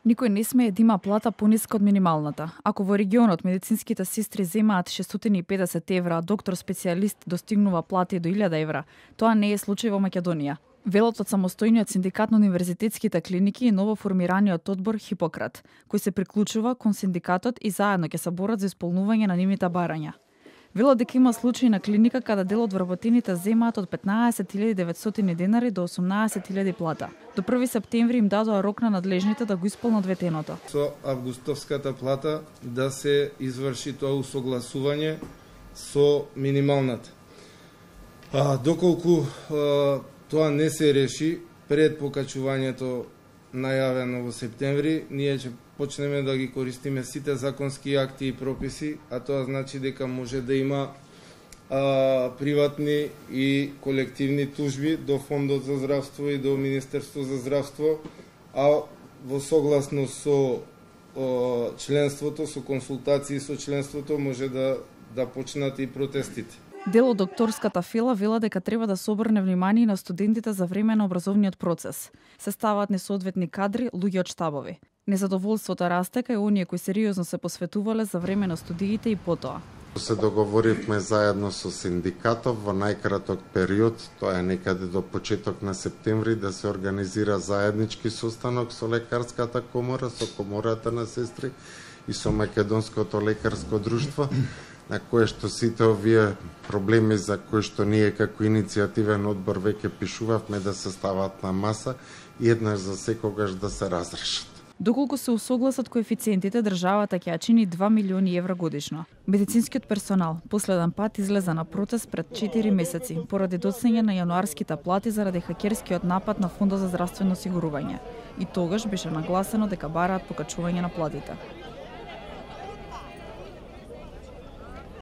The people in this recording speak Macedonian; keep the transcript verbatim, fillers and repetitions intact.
Никој не смее да има плата пониска од минималната. Ако во регионот медицинските сестри земаат шестстотини и педесет евра, а доктор специјалист достигнува плати до илјада евра, тоа не е случај во Македонија. Велот од самостојниот синдикат на универзитетските клиники и новоформираниот одбор Хипократ, кој се приклучува кон синдикатот и заедно ќе се борат за исполнување на нивните барања. Велот дека има случаи на клиника каде дел од вработените земаат од петнаесет илјади и деветстотини денари до осумнаесет илјади плата. До први септември им дадоа рок на надлежните да го исполнат ветеното. Со августовската плата да се изврши тоа усогласување со минималната. А, доколку а, тоа не се реши пред покачувањето најавено во септември, ние ќе почнеме да ги користиме сите законски акти и прописи, а тоа значи дека може да има а, приватни и колективни тужби до Фондот за здравство и до Министерство за здравство, а во согласно со о, членството, со консултации со членството, може да, да почнат и протестите. Дел од докторската фила вела дека треба да се обрне внимание на студентите за време на образовниот процес. Се ставаат несоодветни кадри, луѓе од штабови. Незадоволството расте кај оние кои сериозно се посветувале за време на студиите и потоа. Се договоривме заедно со синдикатов во најкраток период, тоа е некаде до почеток на септември, да се организира заеднички состанок со лекарската комора, со комората на сестри и со Македонското лекарско друштво, на кое што сите овие проблеми за кои што ние како иницијативен одбор веќе пишувавме да се стават на маса и еднаш за секогаш да се разрешат. Доколку се усогласат коефициентите, државата ќе ја чини два милиони евра годишно. Медицинскиот персонал последен пат излезе на протест пред четири месеци поради доцнење на јануарските плати заради хакерскиот напад на Фондот за здравствено осигурување. И тогаш беше нагласено дека бараат покачување на платите.